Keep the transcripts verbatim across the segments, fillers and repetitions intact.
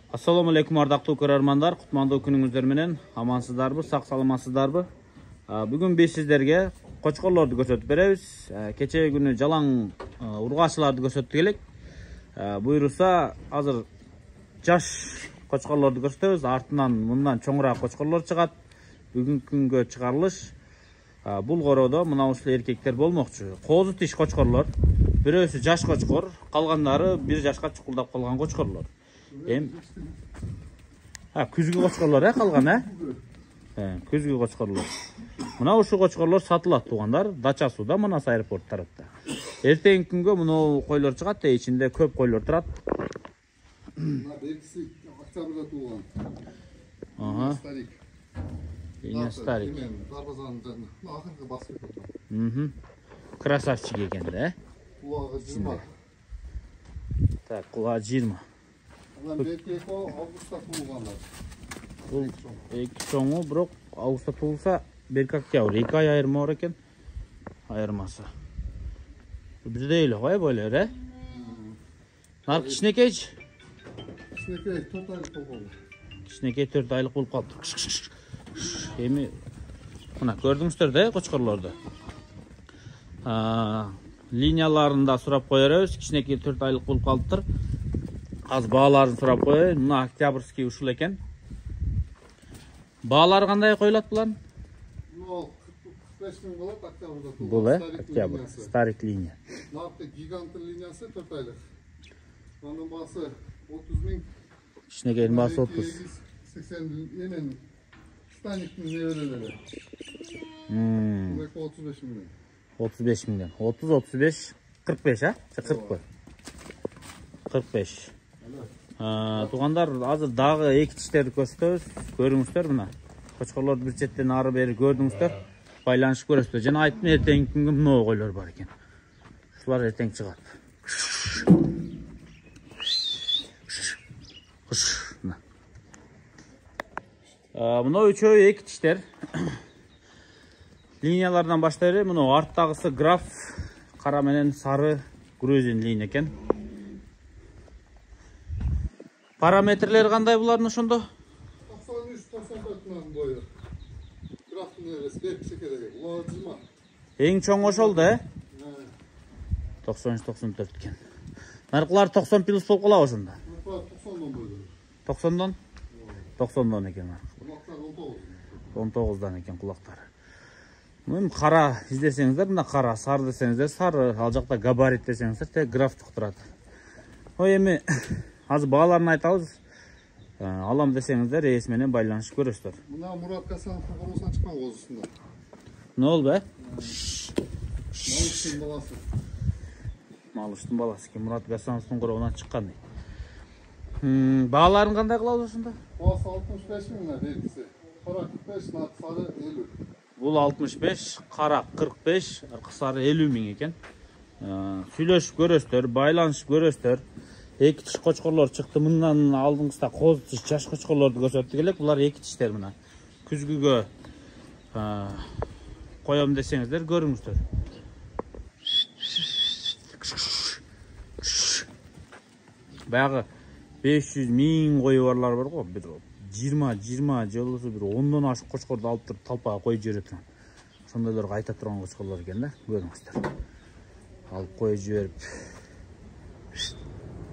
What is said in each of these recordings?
Assalamu alaikum ардактуу көрөрмандар, кутмандуу күнүңүздөр менен амансыздарбы, сак саламатсыздарбы? Бүгүн биз сиздерге кочкорлорду көрсөтүп беребиз. Кечээ күнү жалаң ургаачыларды көрсөттүк элек. Буйруса азыр жаш кочкорлорду көрсөтөбүз. Артынан мындан чоңураак кочкорлор чыгат. Бүгүнкү күнгө чыгарылыш бул короодо мына ушул эркектер болмокчу. Коозу тиш кочкорлор. Бирөөсү жаш кочкор, калгандары бир жашка чукулдап калган кочкорлор. Эм а күзгү кочкорлор э калган э? Э, күзгү кочкорлор. Мына ушул кочкорлор сатылат туугандар, дача сууда Манас аэропорт тарапта. Эртеңки күнгө мына койлор чыгат, ичинде көп койлор турат. Мына экиси октябрда туулган. Ага. Старик. Эне старик. Дарбазанын жанына. Акыркы басып кетти. Мм. Красавчик экен да, э? Кулагы жыйырма. Так, кулагы жыйырма. Анан берки августта туулгандар. Бул эки чоңу, бирок августта туулса, берки октябрь, эки ай айырма бар экен. Айырмасы. Бирдей эле кой бойлор, э? Нар кичинекейчи? Кичинекей төрт айлык болгон. Кичинекей төрт айлык болуп калыптыр. Эми мына көрдүңүздөр да, кочкорлорду. Линияларында сурап кое беребиз. Кичинекей төрт айлык болуп калыптыр. Азыр бааларын сурап коеюн. Мына октябрьский ушул экен. Баалары кандай коюлат булардын? Ну, кырк беш миң болот октябрда туулган. Бул э, октябрь, старик линия. Наркы гигант линиясы төрт айлык. Анын баасы отуз миң. Кичинекейдин баасы отуз. сексен эмен станиктин неберелери. Мм. Бул отуз беш миң. отуз беш миңден. отуз, отуз беш, кырк беш, а? кырк кой. кырк беш. Туугандар, азыр дагы эки тиштерди көрсөтөбүз. Көрүңүздөр мына. Кочкорлорду бир четтен ары бери көрдүңүздөр. Байланышып көрөсүздөр. Жана айттым, эртеңки күнгө мына койлор бар экен. Ушулар эртең чыгат. Мына үчөө эки тиштер. Линиялардан баштай эле, мына арттагысы граф, кара менен сары грузин линия экен. Параметрлери кандай булардын ошондо? токсон үч токсон төрт миң бою. Графтын небеси беркичекедеги. Кулагы жыйырма. Эң чоң ошол да, э? токсон үч токсон төрт экен. Наркылар токсон плюс болуп калабы ошондо? токсондон бойдо. токсондон? токсондон экен. Кулактар он тогуз. он тогуздан экен кулактары. Мына кара издесеңиздер, мына кара, сары десеңиздер, сары, ал жакта габарит десеңиздер, те графтык турат. Ой, эми азыр бааларын айтабыз. Алам десеңиздер, ээси менен байланышып көрөсүздөр. Мына Мурат Гасановдун коросунан чыккан коозусунда. Эмне болду, э? Малыштын баласы. Малыштын баласы экен, Мурат Гасановдун коробунан чыккан. Бааларын кандай кылабыз ошондо? Баасы алтымыш беш миң беркиси. Кара кырк беш, наркы сары элүү. Бул алтымыш беш, кара кырк беш, аркы сары элүү миң экен. Сүйлөшүп көрөсүздөр, байланышып көрөсүздөр. Эки тиш кочкорлор чыкты. Мындан алдыңызда коз тиш жаш кочкорлорду көрсөттүк элек. Булар эки тиштер мына. Күзгүгө коем десеңиздер, көрүңүздөр. Баягы беш жүз миң кою барлар бар го. Бир жыйырма, жыйырма же болбосо бир ондон ашык кочкорду алып туруп талпага коюп жибере турган. Ошондойлорго айта турган кочкорлор экен да, көрүңүздөр. Алып коюп жиберип.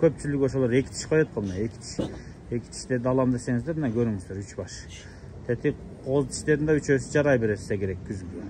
Көпчүлүгү ошолор эки тиш коет го, мына эки тиш. Эки тиштерди алам десеңиздер, мына көрүңүздөр, үч баш. Тети коз тиштерин да үчөөсү жарай берет, керек күзгү.